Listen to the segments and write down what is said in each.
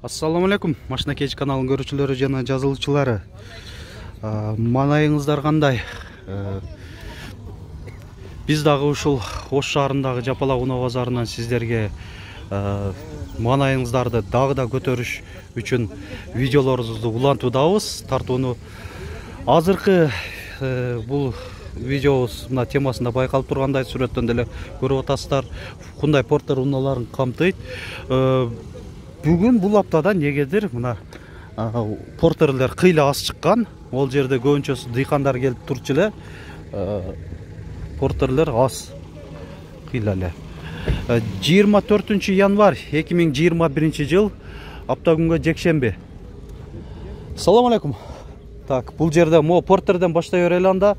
Ассаламу алейкум, Машина Кеч каналынын көрүүчүлөрү жана жазылуучулары. Манайыңыздар кандай? Биз дагы ушул Ош шаарындагы Жапалак унаа базарынан сиздерге манайыңыздарды дагы да көтөрүш үчүн видеолорубузду улантуудабыз. Тартууну азыркы бул видеобуз мына темасында байкалып тургандай сүрөттөн деле көрүп атасыздар. Hyundai Porter унааларын камтыйт. Бүгүн бул аптада негедир мына портерлер кыйла аз чыккан. Ол жерде көбүнчөсү дыйкандар келип турчу эле. Портерлер аз кыйла эле. 24 январь 2021 жыл апта күнгө жекшемби. Ассаламу алейкум. Так, бул жерде мо портерден баштай берели анда.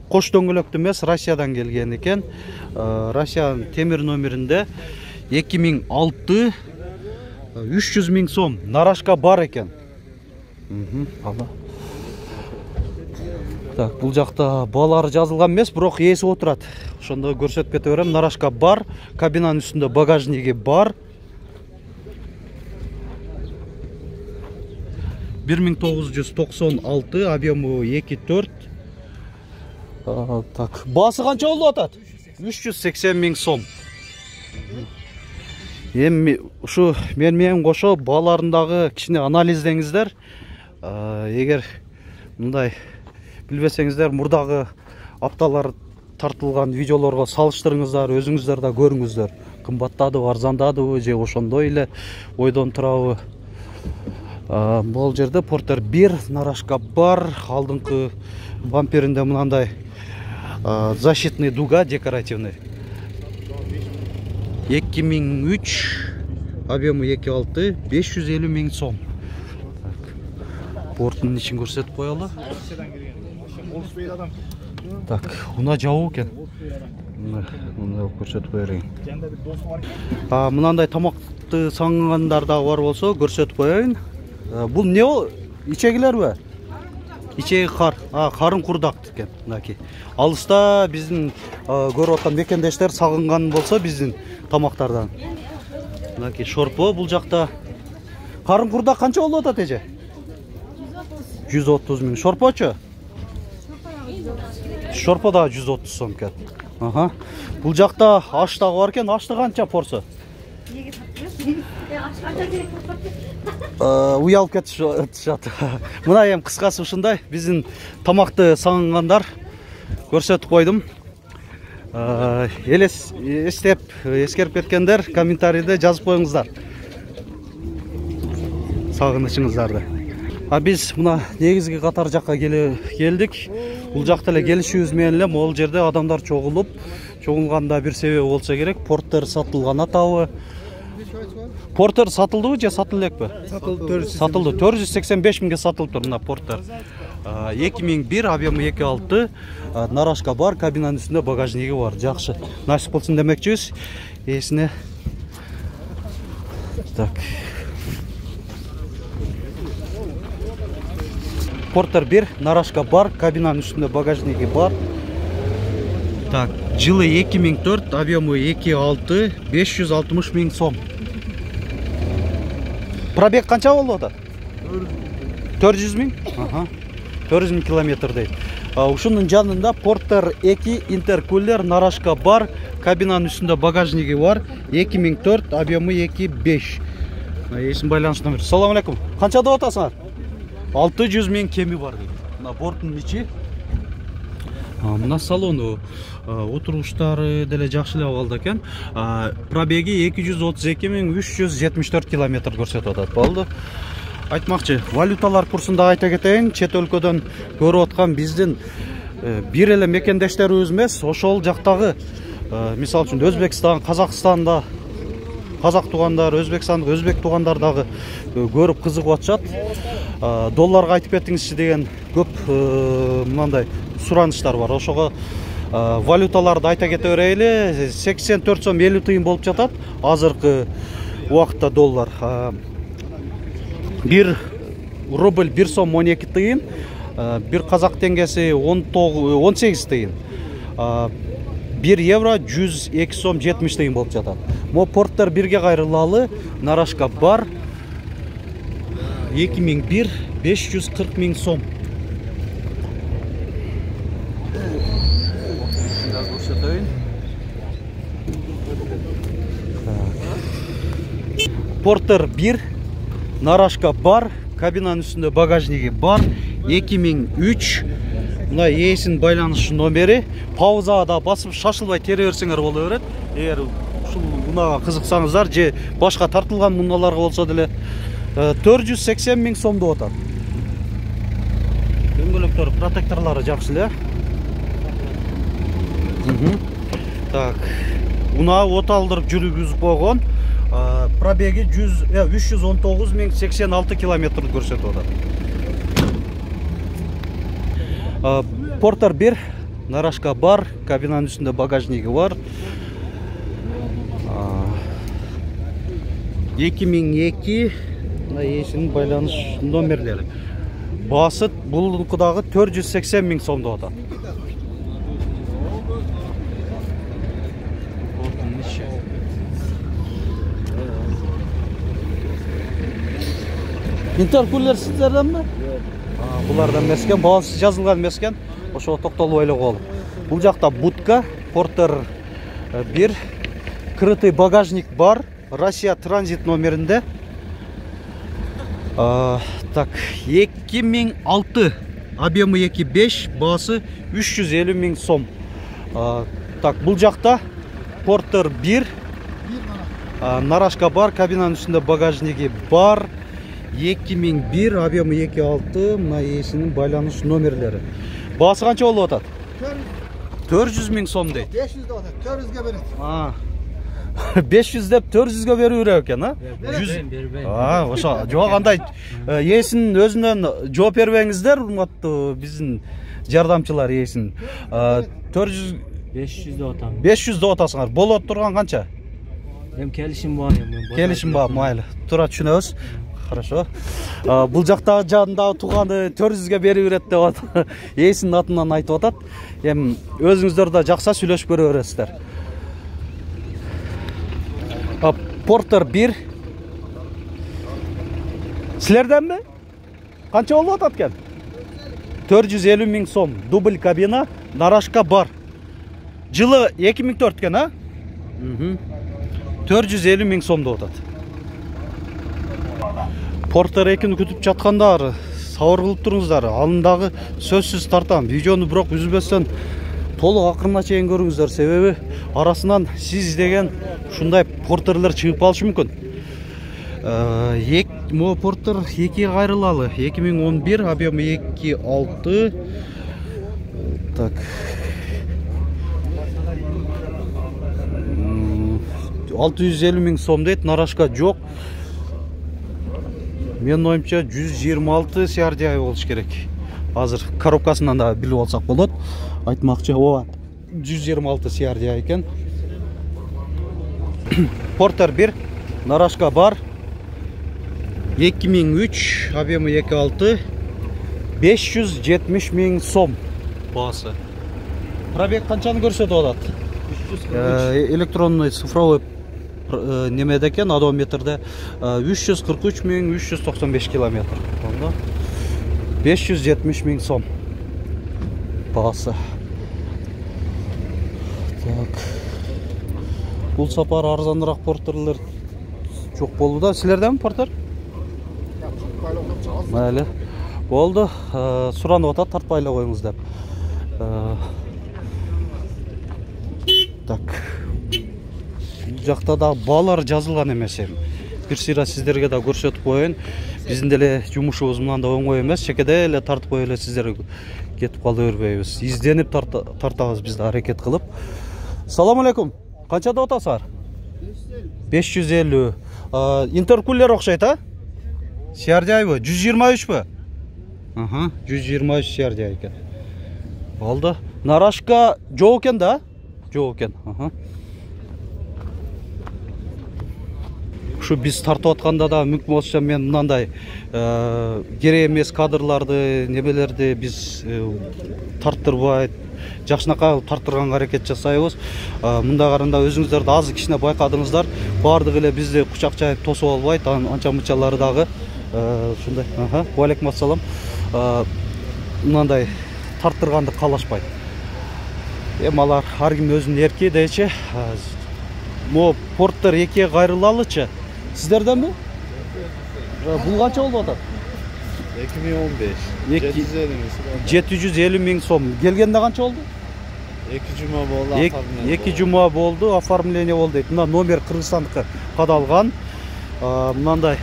Кош дөңгөлөктүү эмес, Россиядан келген экен. Россиянын темир номеринде 2006 300 000 сом нарашка бар экен. Так, бул жакта баалары жазылган эмес, бирок ээси отурат. Ошондо көрсөтүп кете берем. Нарашка бар, кабинанын үстүндө багажниги бар. 1996, объему 2.4. Так, баасы канча болуп атат? 380 000 сом. Эми ушу менен кошо бааларындагы кичине анализдеңиздер. Эгер мындай билбесеңиздер, мурдагы апталар тартылган видеолорго салыштырыңыздар, өзүңүздөр да көрүңүздөр. Кымбаттадыбы, арзандадыбы, же ошондой эле ойдон турабы? Бул жерде Porter 1 нарашка бар, алдыңкы бамперинде мынандай защитный дуга декоративный. 2003, объему 2.6, 550 000 сом. Порттун ичин көрсөтүп коелу. Так, унаа жабуу экен. Муну көрсөтүп коерин. Мынандай тамакты саңгандар да бар болсо көрсөтүп коеюн. Бул не ол? Ичегилерби? Ичеги кар. Карын курдак экен. Мынакей. Алыста биздин көрүп аткан мекендештер сагынган болсо биздин тамактардан. Мынакей шорпо бул жакта. Карын курдак канча болуп атат эже? 130 000. Шорпочу? Шорпо да 130 сом экен. Бул жакта аш дагы бар экен. Ашты канча порсо? Уялып кетишат. Мына эми кыскасы ушундай. Биздин тамакты сагынгандар көрсөтүп койдум. Эскерип кеткендер комментарийде жазып коюңуздар сагынычыңыздарды. Биз мына негизги катар жакка келдик. Бул жакта эле келишибиз менен эле могул жерде адамдар чогулганда бир себеби болсо керек. Porter сатылган атабы? Porter сатылдыбы же сатылып элекпи? Сатылды. 485 000ге сатылып тур мына Porter. 2001, объему 2.6, нарашка бар, кабинанын үстүндө багажниги бар. Жакшы. Насип болсун демекчибиз. Эсине. Так. Porter 1, нарашка бар, кабинанын үстүндө багажниги бар. Так, жылы 2004, объему 2.6, 560 000 сом. Пробег канча болуп атат? 400 000? 400 000 километр дейт. Ушунун жанында Porter 2 интеркулер, нарашка бар, кабинанын үстүндө багажниги бар. 2004, объему 2.5. Эсин байланыш номер. Ассаламу алейкум. Канча деп атасыңар? 600 000 кеми бар дейт. Мына борттун ичи. Мына салону, отуруштары деле жакшы эле абалда экен. Пробеги 232 374 километр көрсөтүп атат. Болду. Айтмакчы, валюталар курсунда айта кетейин, чет өлкөдөн көрүп аткан биздин бир эле мекендештерибиз эмес, ошол жактагы, мисалы үчүн Өзбекстан, Казакстанда казак туугандар, Өзбекстандык өзбек туугандар дагы көрүп кызыгып атышат. Долларга айтып кетиңизчи деген көп мындай суранычтар бар. Ошого валюталарды айта кете берели. 84 сом 50 тыйын болуп жатат. Азыркы убакытта доллар 1 рубль 1 сом 12 тыйын, bir казак теңгеси 18 тыйын. 1 евро 102 сом 70 тыйын болуп жатат. Мо Porter 1-ге кайрылалы нарашка бар 2001 540 000 сом. Porter 1 нарашка бар, кабинанын үстүндө багажниги бар, 2003. Мына ээсинин байланыш номери. Паузага да басып шашылбай тере берсеңер боло берет. Эгер ушул унага кызыксаңыздар же башка тартылган унааларга болсо деле 480 000 сом деп атат. Дөңгөлөктөр, протекторлору жакшы эле. Так. Унаа от алдырып жүргүзүп койгон. Пробеги 319 086 километр көрсөтүп атат. Porter 1 нарашка бар, кабинанын үстүндө багажниги бар. 2002 ээсинин байланыш номерлери. Баасы булункудагы 480 000 сом деп атат. Интеркулер сиздерденби? Булардан эмес экен, баасы жазылган эмес экен. Ошого токтолуп эле коелу. Бул жакта будка, Porter 1, крытый багажник бар, Россия транзит номеринде. Так, 2006, объемы 2.5, баасы 350 000 сом. Так, бул жакта Porter 1, нарашка бар, кабинанын үстүндө багажниги бар. 2001, объемы 2.6, мына ээсинин байланыш номерлери. Баасы канча болуп атат? 400 000 сом дейт. 500 деп атат, 400ге берет. 500 деп 400ге берүү керек экен, 100. Ошо жок, андай ээсинин өзүнөн жооп бербеңиздер, урматтуу биздин жардамчылар ээсин. 400 500 деп атам. 500 деп атасыңар. Болот турган канча? Эми келишим бар, Келишим бар, майли. Тура түшүнөбүз. Хорошо. Бул жакта жанында туганы 400ге берип берет деп атат. Ээсинин атынан айтып атат. Эми өзүңүздөр да жакса сүйлөшүп көрө бересиздер. Porter 1. Силерденби? Канча болуп атат экен? 450 000 сом. Дубль кабина, нарашка бар. Жылы 2004 экен, 450 000 сом деп атат. Porter 2-ни күтүп жаткандар, сабыр кылып туруңуздар. Алындагы сөзсүз тартам. Видеону бирок үзбөстөн толук акырына чейин көрүңүздөр. Себеби арасынан сиз издеген ушундай Porter'лер чыгып калышы мүмкүн. Мо Porter 2 кайрылалы. 2011, объемы 2.6. Так. 650 000 сом дейт, нарашка жок. Менин оюмча 126 CRDI болуш керек. Азыр коробкасынан да билип алсак болот. Айтмакчы, ооба 126 CRDI экен. Porter 1, нарашка бар. 2003, объемы 2.6, 570 000 сом баасы. Пробег канчаны көрсөтүп атат? Электронный цифровой немеде экен, одометрде 343 395 километр. 570 000 сом баасы. Так. Бул сапар арзаныраак Porter'лер жок болду да. Силерденби Porter? Майли. Болду. Суранып атат, тартпай эле коюңуз деп. Так. Бул жакта да баалар жазылган эмес эми. Бир сыйра сиздерге да көрсөтүп коеюн. Биздин деле жумушубуз мындан да оңой эмес. Чекеде эле тартып коюп эле сиздерге кетип кала бербейбиз. Изденип тартабыз биз да аракет кылып. Салам алейкум. Канча деп атасыздар? 550. Интеркулер окшойт, CRDI 123 123 CRDI экен. Болду. Нарашка жок экен да? Жок экен. Ушу биз тартып атканда да мүмкүн болсо мен мындай керек эмес кадрларды, немелерди биз тарттырбай, жакшынакай тарттырганга аракет жасайбыз. Мында каранда өзүңүздөр да азыр кичине байкадыңыздар. Бардыгы эле бизди кучак жайып тосуп албайт. Анча мынчалары дагы ушундай. Алейкум ассалам. Мындай тарттырганды каалашпайт. Эми алар ар ким өзүнүн эрки дейчи. Мо Porter 2 кайрылалычы. Сиздерденби? Бул канча болуп атат? 2015. 750 миң сом. Келгенде канча болду? 2 жума болду. 2 жума болду, оформление болду дейт. Мына номер Кыргызстандыкы кадалган. Мындай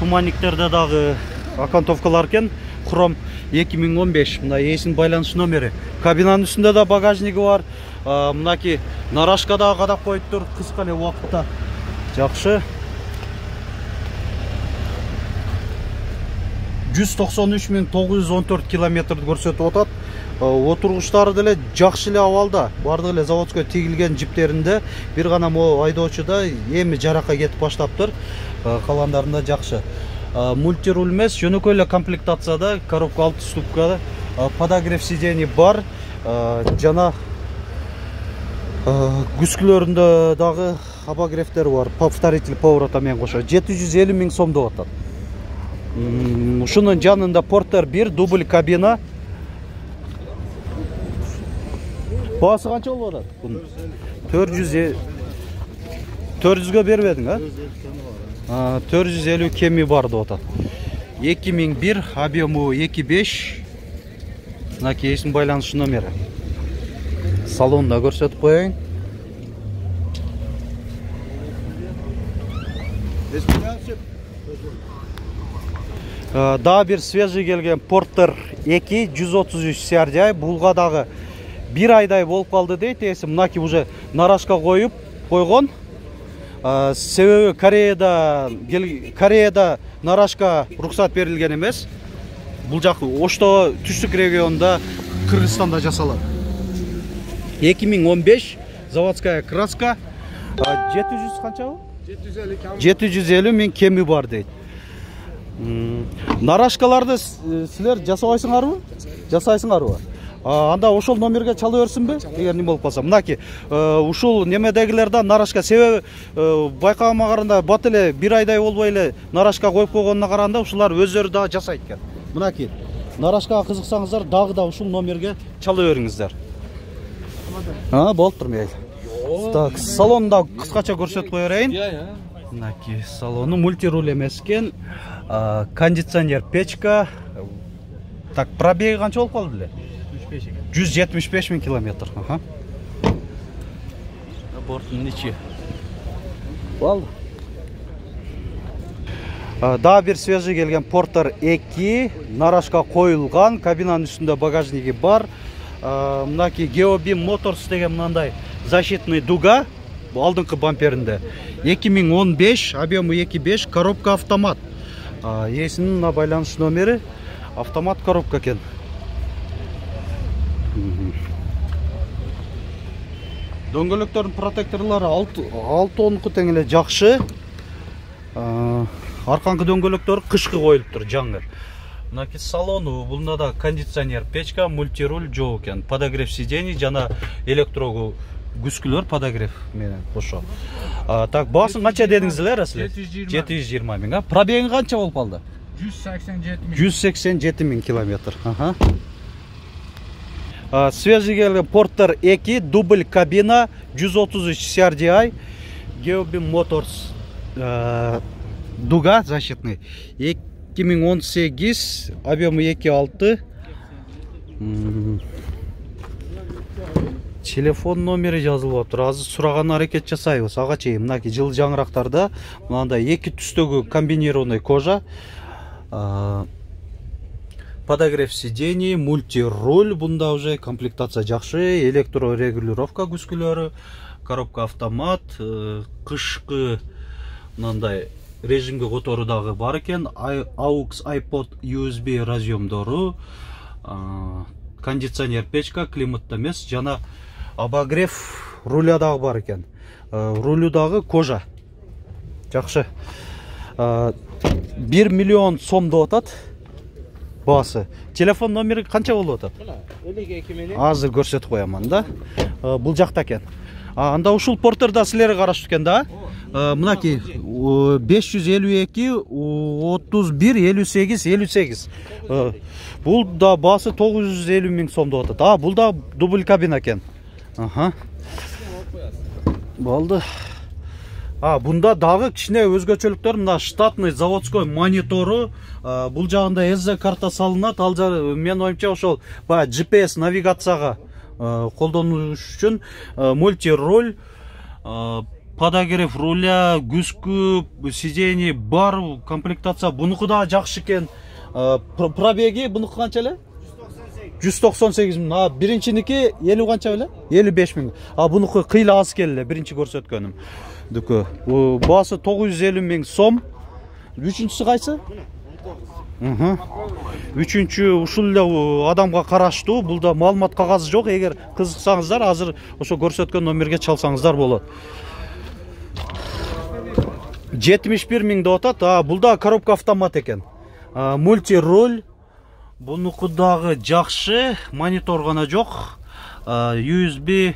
туманниктерде дагы окантовкалар экен. Хром 2015. Мына эсин байланыш номери. Кабинанын үстүндө да багажниги бар. Мынаки нарашка дагы кадап коюптур кыска эле убакытта. Жакшы. 193.914 километрди көрсөтүп атат. Отургучтары деле жакшы эле абалда. Бардыгы эле заводской тигилген жиптеринде. Бир гана мо айдоочуда эми жаракка кетип баштаптыр. Калгандарында жакшы. Мультируль эмес, жөнөкөй эле комплектацияда, коробка 6 ступкада, подогрев сидений бар. Жана күскүлөрүндө дагы обогревтер бар. Повторитель поворота менен кошо 750 миң сом деп атат. Ушунун жанында Porter 1 дубль кабина. Баасы канча болуп атат? 400гө бербедиң, а? 450 кеми бар деп атат. 2001, объему 2.5. Мынаки эсин байланыш номери. Салонда көрсөтүп коеюн. Дагы бир свежий келген Porter 2 133 CRDI. Булга дагы 1 айдай болуп калды дейт. Эси мынаки уже нарашка коюп койгон. Себеби Кореяда нарашка руксат берилген эмес. Бул жак Ошто түштүк регионунда Кыргызстанда жасалат. 2015 заводская краска. 700 канчабы? 750 миң кеми бар дейт. Нарашкаларды силер жасабайсыңарбы? Жасайсыңарбы? Анда ошол номерге чала берсинби? Эгер неме болуп калса. Мынаки ушул немедегилерден нарашка себеби байкагыма караганда бат эле 1 айдай болбой эле нарашка коюп койгонуна караганда ушулар өздөрү да жасайт экен. Мынаки нарашкага кызыксаңыздар дагы да ушул номерге чала бериңиздер. Болуптур мейли. Так, салонда кыскача көрсөтүп кое берейин. Мынаки салону мультируль эмес экен. Кондиционер, печка. Так, пробеги канча болуп калды эле? 175 миң километр. Борттун ичи. Болду. Дагы бир свежий келген Porter 2 нарашка коюлган, кабинанын үстүндө багажниги бар. Мынаки Geobim Motors деген мындай защитный дуга алдыңкы бамперинде. 2015, объему 2.5, коробка автомат. Эсинин байланыш номери автомат коробка экен. Дөңгөлөктөрдүн протекторлору 6-10 тең эле жакшы. Арканкы дөңгөлөктөр кышкы коюлуптур, жаңы. Мынаки салону, бунда да кондиционер, печка, мультируль жок экен. Подогрев сидений жана электрогу күскүлөр подогрев менен кошо. Так, баасын канча дедиңиздер силер? 720 миң. Пробеги канча болуп калды? 187 миң километр. Свежий келген Porter 2 дубль кабина 133 CRDI Geobim Motors дуга защитный 2018 объему 2.6. Телефон номери жазылып атыр. Азыр сураган аракет жасайбыз. Ага чейин мынаки жылы жаңырактарда мындай эки түстөгү комбинированный кожа. Подогрев сидений, мультируль, бунда уже комплектация жакшы, электрорегулировка күскүлөрү, коробка автомат, кышкы мындай режимге котору дагы бар экен, AUX, iPod, USB разъемдору, кондиционер, печка, климатта эмес, жана обогрев руля дагы бар экен. Рулю дагы кожа. Жакшы. 1 миллион сом деп атат. баасы. Телефон номери канча болуп атат? 52 менен. Азыр көрсөтүп коямын да. Бул жакта экен. Анда ушул портерда силер караштуу экен да? Мынакей 552 31 58 58. Бул да баасы 950 миң сом деп атат. Бул да дубль кабина экен. Болду. Бунда дагы кичине өзгөчөлүктөр, мына штатный заводской монитору, бул жагында SD карта салынат. Ал мен оюмча ошол баягы GPS навигацияга колдонуш үчүн мультироль, подогрев руля, күзгү, сидений бар комплектация. Бунуку да жакшы экен. Пробеги бунуку канча эле? 198 миң. Биринчиники 50 канча беле? 55 миң. Бунуку кыйла аз келе, биринчи көрсөткөнүм. Дүкө. Баасы 950 миң сом. Үчүнчүсү кайсы? 19. Үчүнчү ушул эле адамга караштуу. Булда маалымат кагазы жок. Эгер кызыксаңыздар, азыр ошо көрсөткөн номерге чалсаңыздар болот. 71 миң деп атат. Булда коробка автомат экен. Мультироль. Бунуку дагы жакшы, монитор гана жок. USB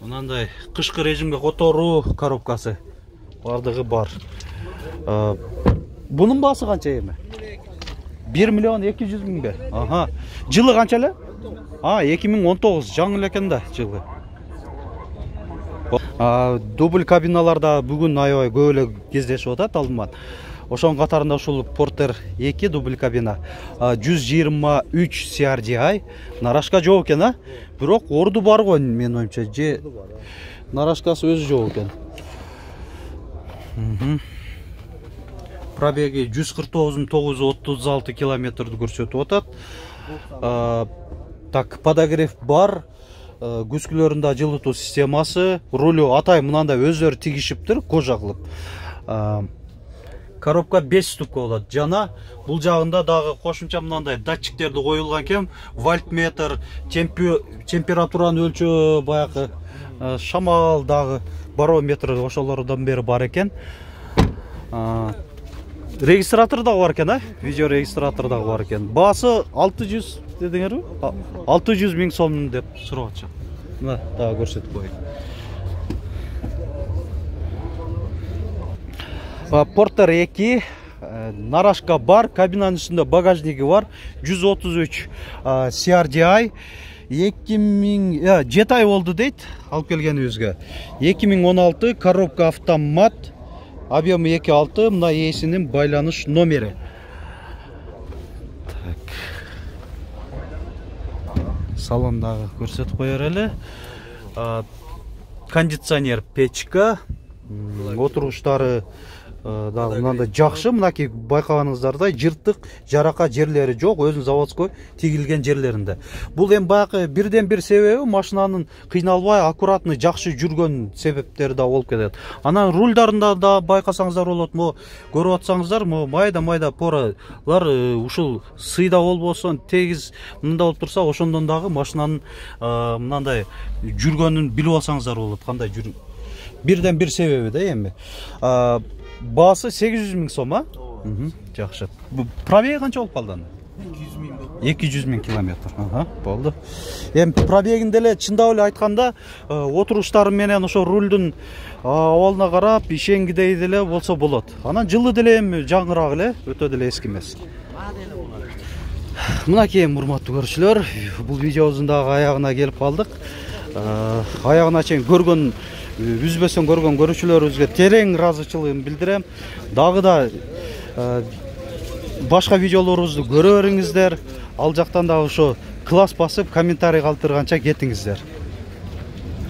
мынандай кышкы режимге которуу коробкасы бардыгы бар. Бунун баасы канча эми? 1 миллион 200 миңбе? Жылы канча эле? 2019, жаңы эле экен да жылы. Дубль кабиналарда бүгүн аябай көп эле кездешип атат алдыман. Ошонун катарында ушул Porter 2 дубль кабина 123 CRDI нарашка жок экен, бирок орду бар го мен оюмча, же нарашкасы өзү жок экен. Пробеги 149.936 километрди көрсөтүп атат. Так, подогрев бар, күзгүлөрүндө жылытуу системасы, рулю атай мынандай өздөрү тигишиптир, кожа кылып. Коробка 5 ступка болот. Жана бул жагында дагы кошумча мындай датчиктерди коюлган экен. Вольтметр, температураны өлчөө, баягы шамал дагы барометр ошолордон бери бар экен. Регистратор дагы бар экен, видео регистратор дагы бар экен. Баасы 600 дедиңерби? 600 миң сом деп сурап атышат. Мына дагы көрсөтүп коеюн. Porter 2 нарашка бар, кабинанын үстүндө багажниги бар, 133 CRDI, 2000 7 ай болду дейт алып келгенибизге. 2016 коробка автомат, объемы 2.6, мына ээсинин байланыш номери. Так. Салондагы көрсөтүп коер эле. Кондиционер печка, отуруштары дагы мындай жакшы. Мынакей байкаганыңыздардай жыртык, жарака жерлери жок, өзүнүн заводской тигилген жерлеринде. Бул эми баягы бирден бир себеби машинанын кыйналбай, аккуратный, жакшы жүргөн себептери да болуп кетет. Анан рульдарында да байкасаңыздар болот, көрүп атсаңыздар, майда поралар ушул сыйда болбосун, тегиз мында болуп турса, ошондон дагы машинанын мындай жүргөнүн билип алсаңыздар болот, кандай жүрүп. Бирден бир себеби да эми. Баасы 800 миң сом, жакшы. Пробеги канча болуп калды? 200 миң километр. Болду. Эми пробегинде эле чындап эле айтканда, отуруштары менен ошо рульдун абалына карап, ишенгидей деле болсо болот. Анан жылы деле эми жаңыраак эле, өтө деле эски эмес. Мынакей урматтуу көрүүчүлөр, бул видеобуздун дагы аягына келип калдык. Аягына чейин көргөн, үзбөсөн көргөн көрүүчүлөрүбүзгө терең ыраазычылыгымды билдирем. Дагы да башка видеолорубузду көрө бериңиздер. Ал жактан да ошо класс басып, комментарий калтырганча кетиңиздер.